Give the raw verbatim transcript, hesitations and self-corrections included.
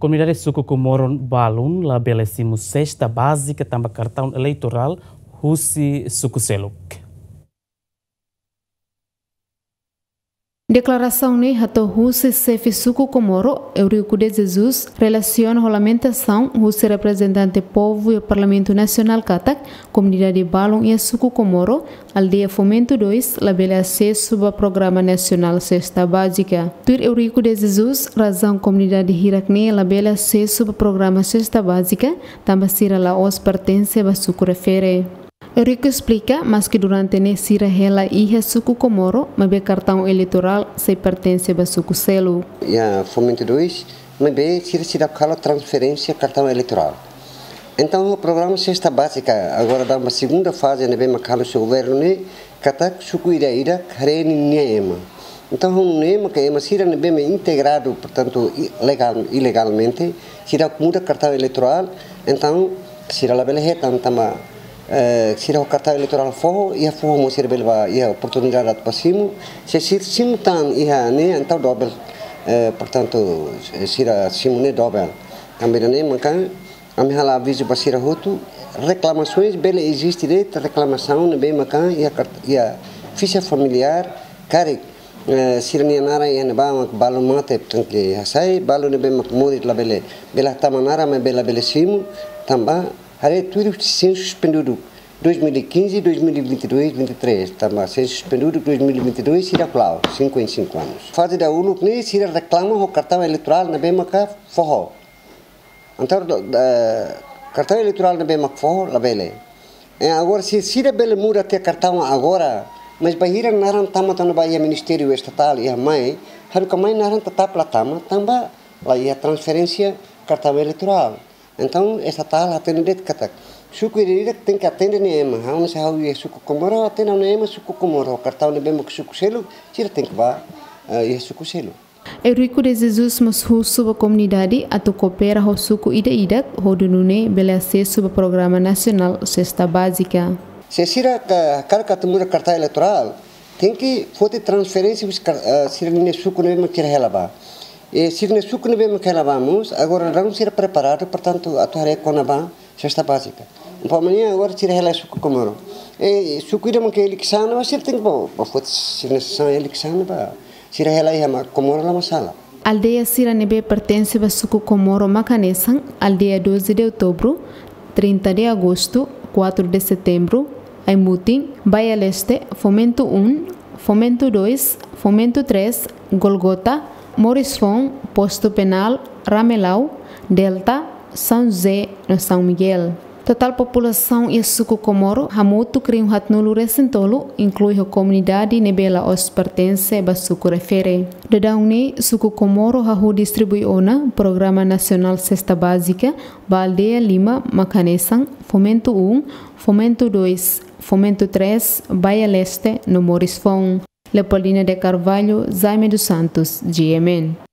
Komunidade suku Comoro balun labele simu sesta bázika tanba kartaun eleitorál husi suku seluk. Deklarasaun ne'e hato'o husi xefe suku Comoro, Eurico de Jesus, relasiona ho lamentasaun husi reprezentante povu iha Parlamentu Nasionál katak komunidade balun iha suku Comoro, aldeia Fomento dois, labele asesu ba programa nasionál sesta bázika. Tuir Eurico de Jesus, razaun komunidade hirak-ne'e labele asesu ba programa sesta bázika, tanba sira la'ós pertense ba suku refere. Eurico esplika, maski durante ne'e sira hela iha suku Comoro, maibé kartaun eleitorál sei pertense ba suku seluk. Iha Fomento dois, maibé sira seidauk halo transferénsia kartaun eleitorál. Entaun, o programa sesta bázika, agora daudaun ba segunda faze ne'ebé mak halo husi governu ne'e, katak suku ida-idak haree ninia ema. Entaun, ha'u hanoin ema ke ema sira ne'ebé mak integradu, portantu, i-, legal, ilegalmente, seidauk muda kartaun eleitorál, entaun, sira labele hetan tanba, eh, sira ho kartaun eleitorál foho, iha foho mós sira bele bá, iha oportunidade atu bá simu, se sira simu tan iha ne'e, entaun dobel, eh, portantu, sira simu ne'e dobel. Tanba ne'e maka, ami halo avizu ba sira hotu, reklamasoens bele eziste de'it, reklamasaun ne'ebé maka iha kart-, iha fixa familiár, karik, eh, sira-nia naran iha ne'ebá mak balu mate, portantu, hasai, balu ne'ebé mak moris labele, bele hatama naran, maibé labele simu, tanba, haree tuir sensu suspendeduk, dois mil e quinze, dois mil e vinte e dois, vinte e três, tanba sensu suspendeduk dois mil e vinte e dois, sira klaru, cinquenta e cinco anos. Faze dahuluk ne'e, sira reklama ho kartaun eleitorál ne'ebé maka foho. Entaun, do, da, kartaun eleitorál ne'ebé mak foho, labele. E agora, se sira bele muda tiha kartaun agora, mas bainhira naran tama tan ba iha Ministériu Estatál, iha mai, haruka mai naran tetap la tama, tanba la iha transferénsia kartaun eleitorál. Entaun, Estatál hatene de'it katak suku ida-idak tenke atende nia ema. Ha'u, se ha'u iha suku Comoro, atende ha'u-nia ema suku Comoro. Kartaun ne'ebé mak suku seluk, sira tenke bá, eh, iha suku seluk. Eurico de Jesus mós husu ba komunidade atu koopera ho suku ida-idak, hodi nune'e bele asesu ba programa nasionál sesta bázika. Se sira ka-, hakarak atu muda kartaun eleitorál, tenke foti transferénsia husi kar-, eh, sira-nia suku ne'ebé mak sira hela bá. E sira-nia suku ne'ebé mak hela bá mós, agora daudaun sira preparadu, portantu, atu haree kona-ba sesta bázika. Umpama ne'e agora sira hela suku Comoro. E suku ida mak eleisaun, mas sira tenke bá, bá foti sira-nia sasán eleisaun bá. Sira hela iha mak Comoro la masalah. Aldeia sira ne'ebé pertense ba suku Comoro mak hanesan, aldeia doze de Outubro, trinta de Agosto, quatro de Setembro, Aimutin, Baia Leste, Fomento um, Fomento dois, Fomento três, Golgota, Moris Foun, Postu Penál, Ramelau, Delta, São José no São Miguel. Totál populasaun iha suku Comoro hamutuk rihun haatnulu resin tolu, inklui ho komunidade ne'ebé la'ós pertense ba suku refere. Daudaun ne'e suku Comoro hahú distribui ona programa nasionál sesta bázika ba aldeia lima mak hanesan Fomento um, Fomento dois, Fomento três, Baia Leste no Moris Foun. Leopoldina de Carvalho, Jaime dos Santos, G M N.